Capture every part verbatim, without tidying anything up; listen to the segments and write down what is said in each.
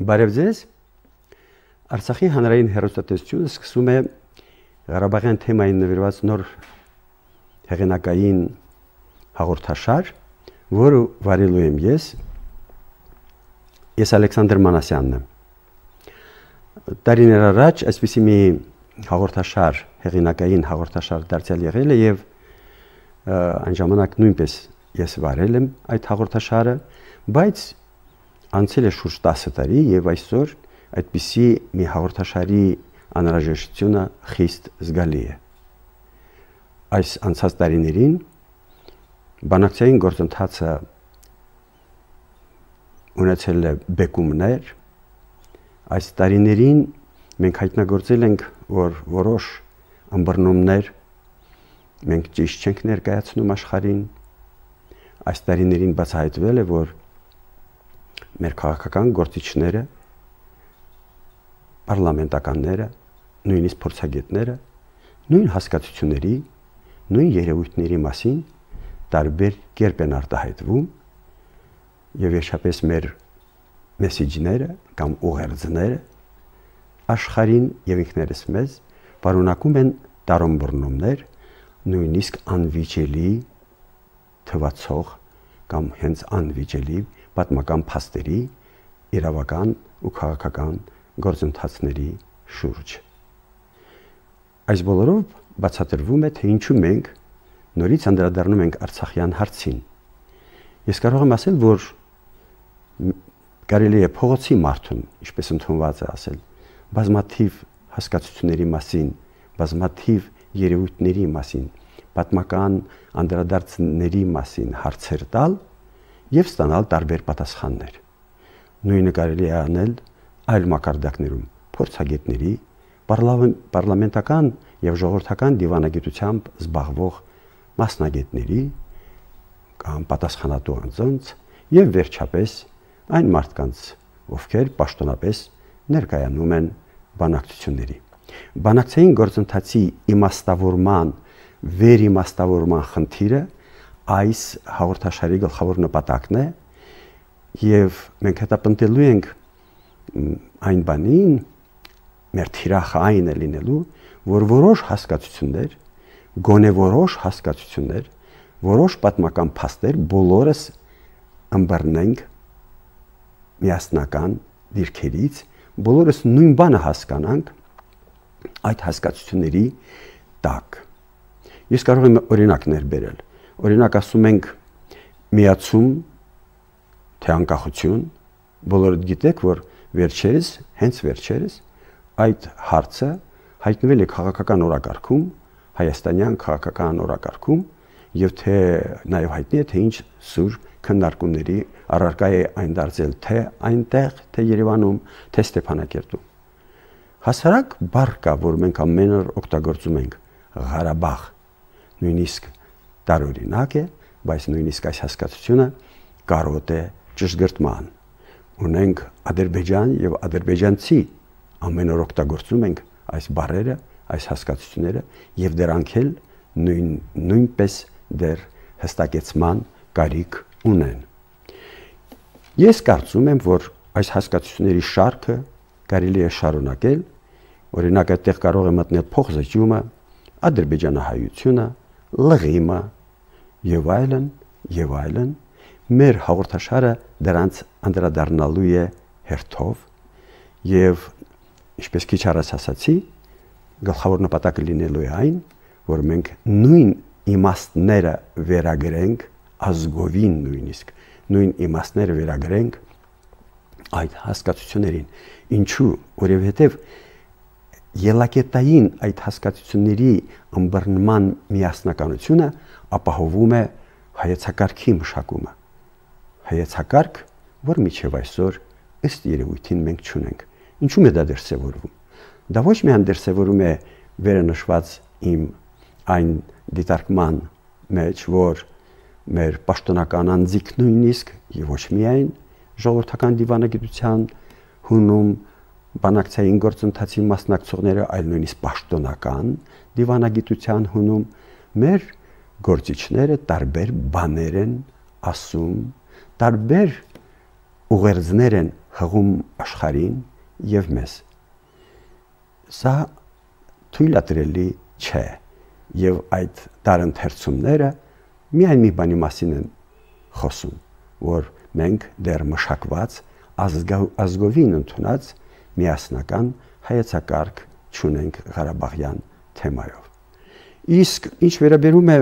Բարև ձեզ, Արցախի հանրային հեռուստատեսությունը սկսում է Ղարաբաղյան թեմային նվիրված նոր հեղինակային հաղորդաշար, որը վարելու եմ ես, ես Ալեքսանդր Մանասյանն եմ։ Տարիներ առաջ այսպիսի մի հաղորդաշար, հեղինակային հաղորդաշար դարձյալ եղել է եւ այն ժամանակ նույնպես ես վարել եմ այդ հաղորդաշարը, բայց անցել է շուրջ տասը տարի եւ այսօր այդպիսի մի հաղորդաշարի անհրաժեշտությունը խիստ զգալի է։ Այս անցած տարիներին բանակցային գործընթացը ունեցել է բեկումներ, այս տարիներին մենք հայտնագործել ենք, որ որոշ ըմբռնումներ մենք ճիշտ չենք ներկայացնում աշխարհին, այս տարիներին բացահայտվել է, որ մեր քաղաքական գործիչները, պարլամենտականները, նույնիսկ փորձագետները, նույն հասկացությունների, նույն երևույթների մասին տարբեր կերպ են արտահայտվում եւ վերջապես մեր մեսեջները կամ ուղերձները աշխարհին եւ ինքներս մեզ պարունակում են տարօրինումներ, նույնիսկ անվիճելի թվացող կամ հենց անվիճելի պատմական փաստերի, իրավական ու քաղաքական գործընթացների շուրջ։ Այս բոլորով բացատրվում է, թե ինչու մենք նորից անդրադառնում ենք Արցախյան հարցին։ Ես կարող եմ ասել, որ կարելի է փողոցի մարդուն, ինչպես ընդունված է ասել, բազմաթիվ հասկացությունների մասին, բազմաթիվ երևույթների մասին, պատմական անդրադարձների մասին հարցեր տալ եւ ստանալ տարբեր պատասխաններ։ Նույնը կարելի է անել այլ մակարդակներում, փորձագետների, պարլամենտական եւ ժողովրդական դիվանագիտությամբ զբաղվող մասնագետների կամ պատասխանատու անձանց եւ վերջապես այն մարդկանց, ովքեր պաշտոնապես ներկայանում են բանակցությունների։ Բանակցային գործընթացի իմաստավորման, վերիմաստավորման խնդիրը այս հաղորդաշարի գլխավոր նպատակն է եւ մենք հետապնդելու ենք այն բանին, մեր թիրախը այն է լինելու, որ որոշ հասկացություններ, գոնե որոշ հասկացություններ, որոշ պատմական փաստեր բոլորս ըմբռնենք միասնական դիրքերից, բոլորս նույն բանը հասկանանք այդ հասկացությունների տակ։ Ես կարող եմ օրինակներ բերել։ Օրինակ ասում ենք միացում, թե անկախություն, բոլորդ գիտեք, որ վերջերս, հենց վերջերս այդ հարցը հայտնվել է քաղաքական օրակարգում, հայաստանյան քաղաքական օրակարգում եւ թե նաեւ հայտնի է, թե ինչ սուր քննարկումների առարկա է այն դարձել թե այնտեղ, թե Երևանում, թե Ստեփանակերտում։ Հասարակ բառ կա, որ մենք ամեն օր օգտագործում ենք Ղարաբաղ, նույնիսկ տարօրինակ է, բայց նույնիսկ այս հասկացությունը կարոտ է ճշգրտման։ Ունենք Ադրբեջան եւ ադրբեջանցի, ամեն օր օգտագործում ենք այս բառերը, այս հասկացությունները եւ դրանք էլ նույն նույնպես դեռ հստակեցման կարիք ունեն։ Ես կարծում եմ, որ այս հասկացությունների շարքը կարելի է շարունակել, օրինակ այդտեղ կարող է մտնել փոխզիջումը, ադրբեջանահայությունը, լղիմը եւ այլն, եւ այլն, մեր հաղորդաշարը դրանց անդրադառնալու է հերթով եւ ինչպես քիչ առաջ ասացի, գլխավոր նպատակը լինելու է այն, որ մենք նույն իմաստները վերագրենք ազգովին նույնիսկ, նույն իմաստները վերագրենք այդ հասկացություններին։ Ինչու? Որովհետեւ ելակետային այդ հասկացությունների ըմբռնման միասնականությունը ապահովում է հայեցակարգի մշակումը։ Հայեցակարգ, որ միջև այսօր ըստ երևույթին մենք չունենք։ Ինչու՞մ է դա դրսևորվում։ Դա ոչ միայն դրսևորում է վերը նշված իմ այն դիտարկման մեջ, որ մեր պաշտոնական անձիկ նույնիսկ եւ ոչ միայն ժողովրդական դիվանագիտության հունում բանակցային գործընթացի մասնակցողները, այլ նույնիսկ պաշտոնական դիվանագիտության հունում մեր գործիչները տարբեր բաներ են ասում, տարբեր ուղերձներ են հղում աշխարհին եւ մեզ։ Սա թույլատրելի չէ եւ այդ տարընթերցումները միայն մի բանի մասին են խոսում, որ մենք դեռ մշակված ազգովին ընդունած միասնական հայեցակարգ չունենք Ղարաբաղյան թեմայով։ Իսկ ինչ վերաբերում է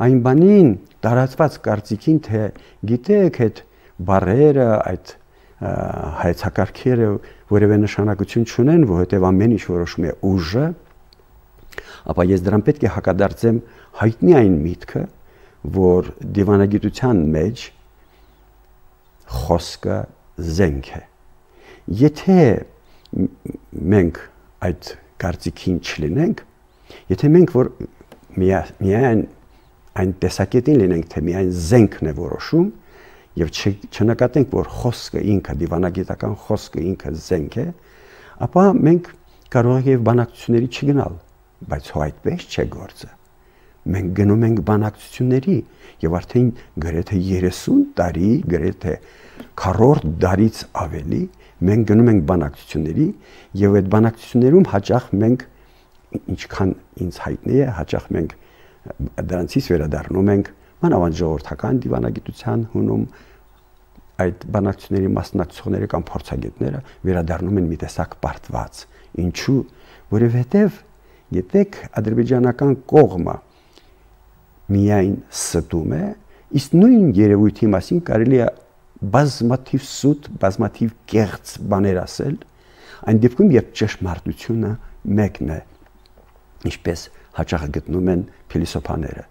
այն բանին, տարածված կարծիքին, թե գիտեք այդ բառերը, այդ հայեցակարգերը որևէ նշանակություն չունեն, որովհետև ամեն ինչ որոշում է ուժը, ապա ես դրան պետք է հակադարձեմ հայտնի այն միտքը, որ դիվանագիտության մեջ խոսքը զենք է։ Եթե մենք այդ կարծիքին չլինենք, եթե մենք որ միայն այն տեսակետին լինենք, թե միայն զենքն է որոշում եւ չնկատենք, որ խոսքը ինքը, դիվանագիտական խոսքը ինքը զենք է, ապա մենք կարող ենք բանակցությունների չգնալ, բայց հո այդպես չէ գործը։ Մենք գնում ենք բանակցությունների եւ արդեն գրեթե երեսուն տարի, գրեթե քառորդ դարից ավելի մենք գնում ենք բանակցությունների եւ այդ բանակցություններում հաճախ մենք ինչքան ինձ հայտնի է, հաճախ մենք դրանցից վերադառնում ենք մանավանդ ժողովրդական դիվանագիտության հունում այդ բանակցությունների մասնակցողները կամ փորձագետները վերադառնում են մի տեսակ պարտված։ Ինչու՞, որովհետև գիտեք, ադրբեջանական կողմը միայն ստում է, իսկ նույն երևույթի մասին կարելի է բազմաթիվ սուտ, բազմաթիվ կեղծ բաներ ասել, այն դեպքում, երբ ճշմարտությունը մեկն է, ինչպես հաճախ գտնում են փիլիսոփաները։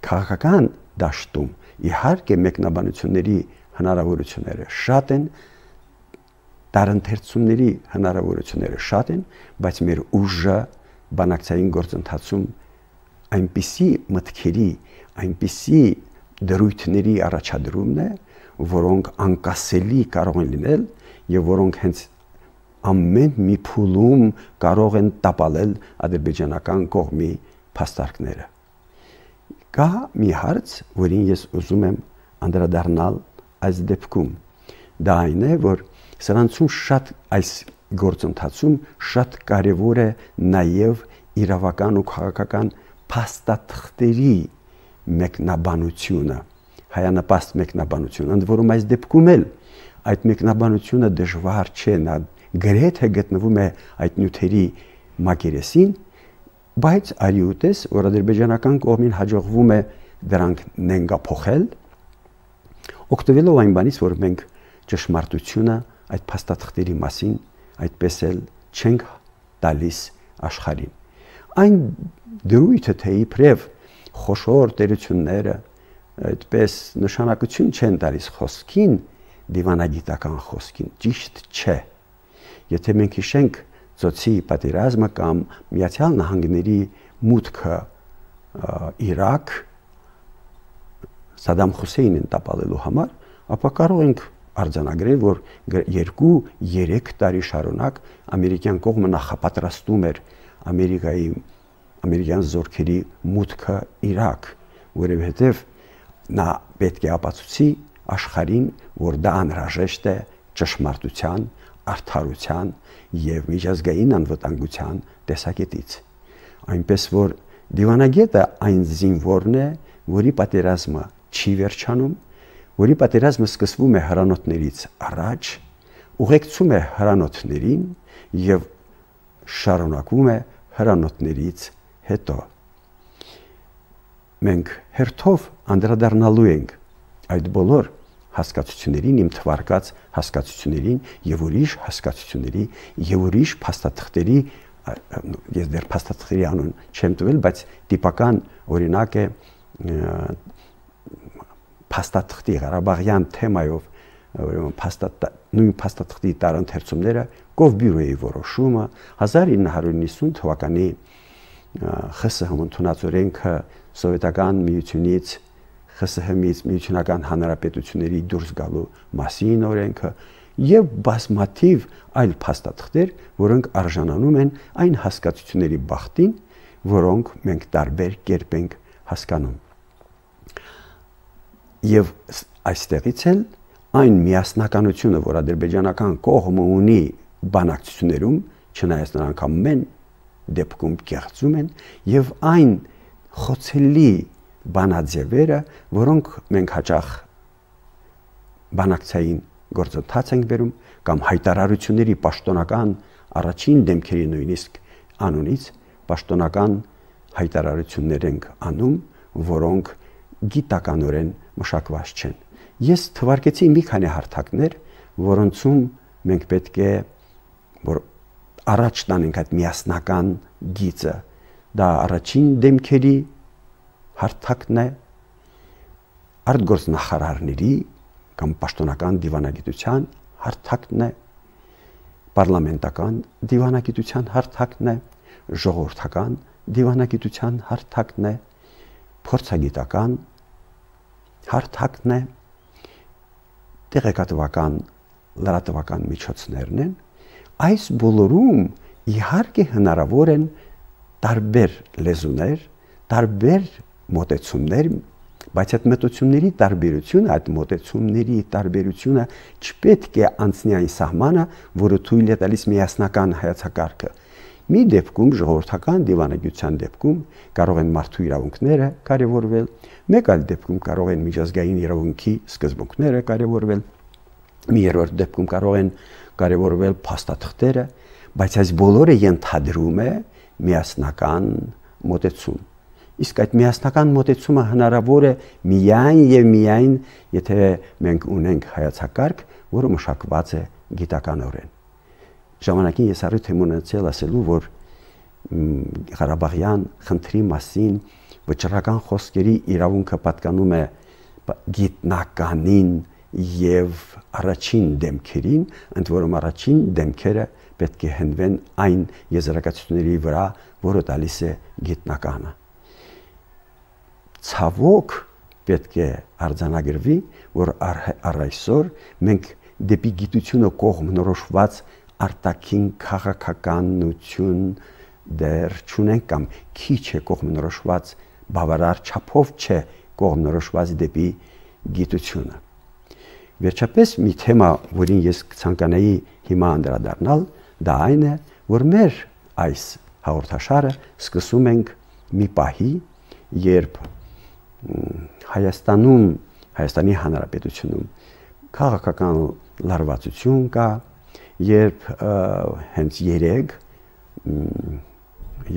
Քաղաքական դաշտում իհարկե մեկնաբանությունների հնարավորությունները շատ են, տարընթերցումների հնարավորությունները շատ են, բայց մեր ուժը բանակցային գործընթացում այնպիսի մտքերի, այնպիսի դրույթների առաջադրումն է, որոնք անկասելի կարող են լինել եւ որոնք հենց ամեն մի փուլում կարող են տապալել ադրբեջանական կողմի փաստարկները։ Կա մի հարց, որին ես ուզում եմ անդրադառնալ այս դեպքում։ Դա այն է, որ սրանցում շատ այս գործընթացում շատ կարևոր է նաև իրավական ու քաղաքական փաստաթղթերի մեկնաբանությունը, հայանպաստ մեկնաբանությունը, ընդ որում այս դեպքում էլ այդ մեկնաբանությունը դժվար չէ, նա գրեթե գտնվում է այդ նյութերի մակերեսին, բայց արի ուտես, որ ադրբեջանական կողմին հաջողվում է դրանք նենգափոխել, օգտվելով այն բանից, որ մենք ճշմարտությունը այդ փաստաթղթերի մասին այդպես էլ չենք տալիս աշխարհին։ Այն դրույթը, թե իբրև խոշոր տերությունները այդպես նշանակություն չեն տալիս խոսքին, դիվանագիտական խոսքին, ճիշտ չէ։ Եթե մենք հիշենք ծոցի պատերազմը կամ Միացյալ Նահանգների մուտքը Իրաք Սադամ Հուսեյնին տապալելու համար, ապա կարող ենք արձանագրել, որ երկու երեք տարի շարունակ ամերիկյան կողմը նախապատրաստում էր Ամերիկայի ամերիկյան զորքերի մուտքը Իրաք, որովհետև նա պետք է ապացուցի աշխարհին, որ դա անհրաժեշտ է ճշմարտության, արդարության եւ միջազգային անվտանգության տեսակետից։ Այնպես որ դիվանագետը այն զինվորն է, որի պատերազմը չի վերջանում, որի պատերազմը սկսվում է հրանոթներից առաջ, ուղեկցում է հրանոթներին եւ շարունակվում է հրանոթներից հետո։ Մենք հերթով անդրադառնալու ենք այդ բոլոր հասկացություններին, իմ թվարկած հասկացություններին եւ ուրիշ հասկացությունների եւ ուրիշ փաստաթղթերի, ես դեռ փաստաթղթերի անուն չեմ տվել, բայց տիպական օրինակ է փաստաթղթի Ղարաբաղյան թեմայով, ուրեմն փաստաթ նույն փաստաթղթի տարընթերցումները Կովբյուրոյի որոշումը հազար ինը հարյուր նվաթ թվականի ԽՍՀՄ ընդունած օրենքը սովետական միությունից ԽՍՀՄ-ից միությունական հանրապետությունների դուրս գալու մասին օրենքը եւ բազմաթիվ այլ փաստաթղթեր, որոնք արժանանում են այն հասկացությունների բախտին, որոնք մենք տարբեր կերպ ենք հասկանում։ Եվ այստեղից էլ այն միասնականությունը, որ ադրբեջանական կողմը ունի բանակցություններում, չնայած նրանք ամեն դեպքում կեղծում են, եւ այն խոցելի բանաձևերը, որոնք մենք հաճախ բանակցային գործընթաց ենք բերում կամ հայտարարությունների պաշտոնական առաջին դեմքերի նույնիսկ անունից պաշտոնական հայտարարություններ ենք անում, որոնք գիտականորեն մշակված չեն։ Ես թվարկեցի մի քանի հարթակներ, որոնցում մենք պետք է որ առաջ տանենք այդ միասնական գիծը։ Դա առաջին դեմքերի հարթակն է, արտգործնախարարների կամ պաշտոնական դիվանագիտության հարթակն է, պարլամենտական դիվանագիտության հարթակն է, ժողովրդական դիվանագիտության հարթակն է, փորձագիտական հարթակն է, տեղեկատվական լրատվական միջոցներն են։ Այս բոլորում իհարկե հնարավոր են տարբեր լեզուներ, տարբեր մոտեցումներ, բայց այդ մոտեցումների տարբերությունը, այդ մոտեցումների տարբերությունը չպետք է անցնի այն սահմանը, որը թույլ է տալիս միասնական հայեցակարգը։ Մի դեպքում ժողովրդական դիվանագիտության դեպքում կարող են մարդու իրավունքները կարևորվել, մեկ այլ դեպքում կարող են միջազգային իրավունքի սկզբունքները կարևորվել, մի երրորդ դեպքում կարող են կարևորվել փաստաթղթերը, բայց այս բոլորը ենթադրում է միասնական մոտեցում։ Իսկ այդ միասնական մոտեցումը հնարավոր է միայն եւ միայն, եթե մենք ունենք հայեցակարգ, որը մշակված է գիտականորեն։ Ժամանակին ես առիթ եմ ունեցել ասելու, որ Ղարաբաղյան խնդրի մասին վճռական խոսքերի իրավունքը պատկանում է գիտնականին եւ առաջին դեմքերին, ընդ որում առաջին դեմքերը պետք է հենվեն այն եզրակացությունների վրա, որը տալիս է գիտնականը։ Ցավոք պետք է արձանագրվի, որ առ այսօր մենք դեպի գիտությունը կողմնորոշված արտաքին քաղաքականություն դեռ չունենք կամ քիչ է կողմնորոշված, բավարար չափով չէ կողմնորոշված դեպի գիտությունը։ Վերջապես մի թեմա, որին ես ցանկանայի հիմա անդրադառնալ, դա այն է, որ մեր այս հաղորդաշարը սկսում ենք մի պահի, երբ Հայաստանում, Հայաստանի Հանրապետությունում քաղաքական լարվածություն կա, երբ հենց երեք,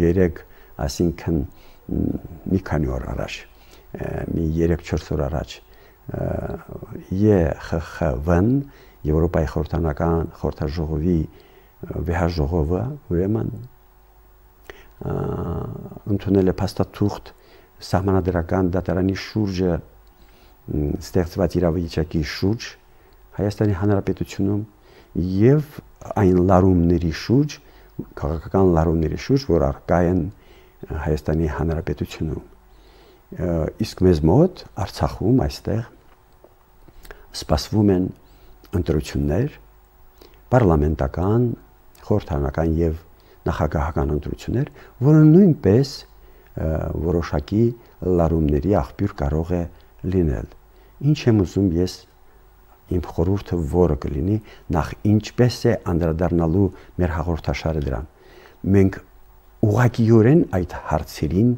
երեք, այսինքն մի քանի օր առաջ, մի երեք-չորս օր առաջ Է Խ Խ V-ն Եվրոպայի խորհրդանական խորհրդաժողովի վեհաժողովը ուրեմն ընդունել է փաստաթուղթ սահմանադրական դատարանի շուրջը ստեղծված իրավիճակի շուրջ Հայաստանի Հանրապետությունում եւ այն լարումների շուրջ, քաղաքական լարումների շուրջ, որ առկա են Հայաստանի Հանրապետությունում։ Իսկ մեզ մոտ Արցախում այստեղ սպասվում են ընտրություններ, պարլամենտական, խորհրդարանական եւ նախագահական ընտրություններ, որը նույնպես որոշակի լարումների աղբյուր կարող է լինել։ Ինչ եմ ուզում ես իմ խորհուրդը որը կլինի, նախ ինչպես է անդրադառնալու մեր հաղորդաշարը դրան։ Մենք ուղղակիորեն այդ հարցերին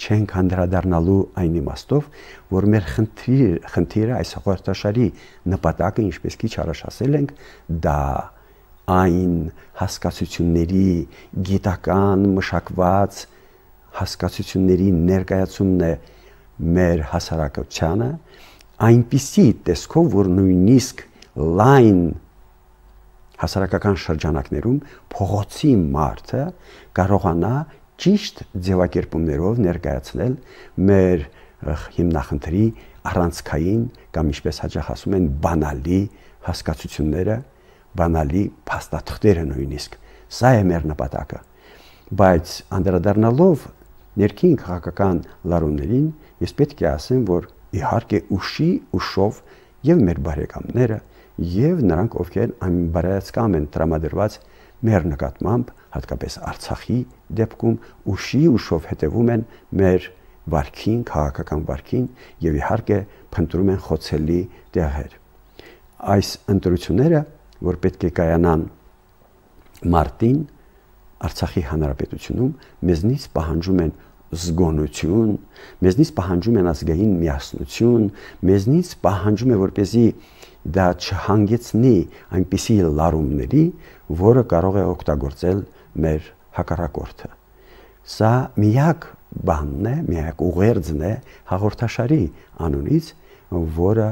չենք անդրադառնալու այն իմաստով, որ մեր խնդիր, խնդիրը այս հաղորդաշարի նպատակը, ինչպես քիչ առաջ ասել ենք, դա այն հասկացությունների գիտական մշակված հասկացությունների ներկայացումն է մեր հասարակությանը, այնպիսի տեսքով, որ նույնիսկ լայն հասարակական շրջանակներում փողոցի մարդը կարողանա ճիշտ ձևակերպումներով ներկայացնել մեր հիմնախնդրի առանցքային կամ ինչպես հաճախ ասում են բանալի հասկացությունները, բանալի փաստաթղթերը նույնիսկ։ Սա է մեր նպատակը։ Բայց անդրադառնալով ներքին քաղաքական լարումներին, ես պետք է ասեմ, որ իհարկե ուշի ուշով եւ մեր բարեկամները եւ նրանք, ովքեր անբարայացկամ են տրամադրված մեր նկատմամբ, հատկապես Արցախի դեպքում, ուշի ուշով հետևում են մեր վարքին, քաղաքական վարքին եւ իհարկե փնտրում են խոցելի տեղեր։ այս ընտրությունները, որ պետք է կայանան մարտին Արցախի հանրապետությունում, մեզնից պահանջում են զգոնություն, մեզնից պահանջում են ազգային միասնություն, մեզնից պահանջում է, որպեսզի դա չհանգեցնի այնպիսի լարումների, որը կարող է օգտագործել մեր հակառակորդը։ Սա միակ բանն է, միակ ուղերձն է հաղորդաշարի անունից, որը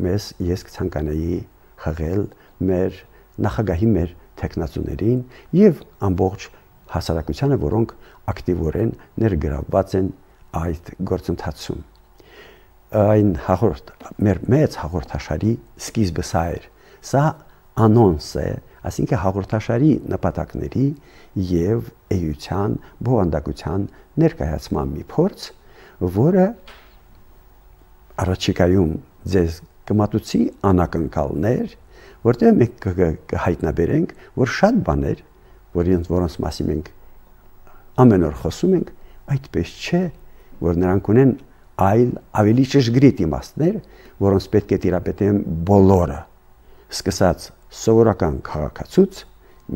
մեզ ես կցանկանայի խղել մեր նախագահի մեր թեկնածուներին եւ ամբողջ հասարակությանը, որոնք ակտիվորեն ներգրավված են այդ գործընթացում։ Այն հաղորդ մեր մեծ հաղորդաշարի սկիզբը սա էր։ Սա անոնս է, այսինքն հաղորդաշարի նպատակների եւ էության, բովանդակության ներկայացման մի փորձ, որը առաջիկայում ձեզ կմատուցի անակնկալներ, որտեղ մենք կհայտնաբերենք, որ շատ բաներ, որոնց որոնց մասին մենք ամեն օր խոսում ենք, այդպես չէ, որ նրանք ունեն այլ ավելի ճշգրիտ իմաստներ, որոնց պետք է տիրապետեն բոլորը, սկսած սովորական քաղաքացուց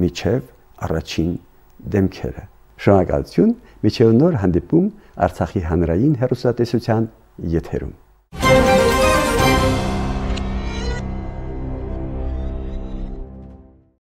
միջև առաջին դեմքերը։ Շնորհակալություն, միջև նոր հանդիպում Արցախի հանրային հեռուստատեսության եթերում։